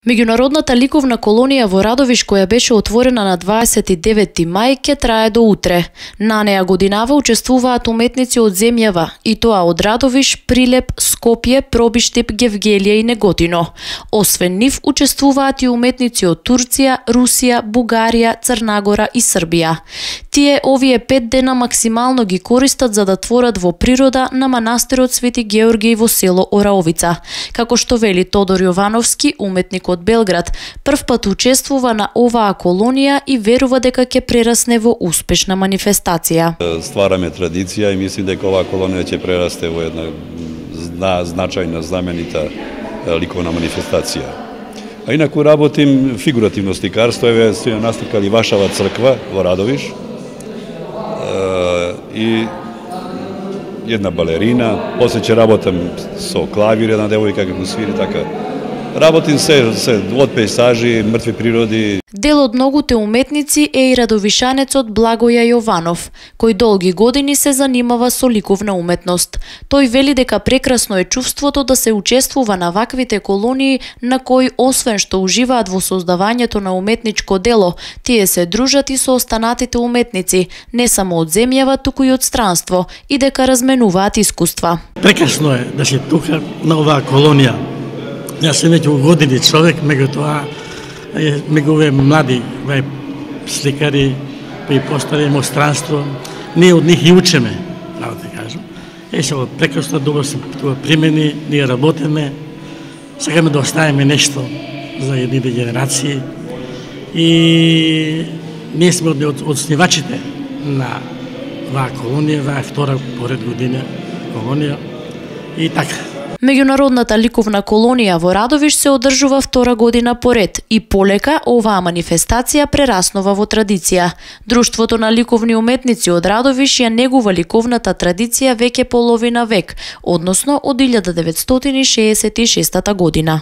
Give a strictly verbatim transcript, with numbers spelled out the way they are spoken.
Меѓународната ликовна колонија во Радовиш, која беше отворена на дваесет и деветти мај, ќе трае до утре. На неа годинава учествуваат уметници од земјава, и тоа од Радовиш, Прилеп, Скопје, Пробиштип, Гевгелија и Неготино. Освен нив, учествуваат и уметници од Турција, Русија, Бугарија, Црнагора и Србија. Тие овие пет дена максимално ги користат за да творат во природа на манастирот Свети Георгиј во село Ораовица. Како што вели Тодор Јовановски, уметник од Белград, прв пат учествува на оваа колонија и верува дека ќе прерасне во успешна манифестација. Ствараме традиција и мислим дека оваа колонија ќе прерасте во една зна, значајна, знаменита ликовна манифестација. А инаку работим фигуративно сликарство, еве сме насликали Вашава црква во Радовиш и една балерина, после ќе работам со клавир, една девојка како свири, така. Работим се, се од пейзажи, мртви природи. Дел од многуте уметници е и радовишанецот Благоја Јованов, кој долги години се занимава со ликовна уметност. Тој вели дека прекрасно е чувството да се учествува на ваквите колонии на кои освен што уживаат во создавањето на уметничко дело, тие се дружат и со останатите уметници, не само од земјава, туку и од странство, и дека разменуваат искуства. Прекрасно е да се тука на оваа колонија. Јас сум веќе години човек, меѓутоа меѓу овие млади сликари, кои постари во странство, ние од нив и учиме, право да кажам. Е, се прекрасно добро се тоа примени, ние работиме, сакаме да оставиме нешто за едните генерации и ние сме од основачите на оваа колонија, оваа втора поред година колонија и така. Меѓународната ликовна колонија во Радовиш се одржува втора година поред и полека оваа манифестација прераснува во традиција. Друштвото на ликовни уметници од Радовиш ја негува ликовната традиција веќе половина век, односно од илјада деветстотини шеесет и шеста година.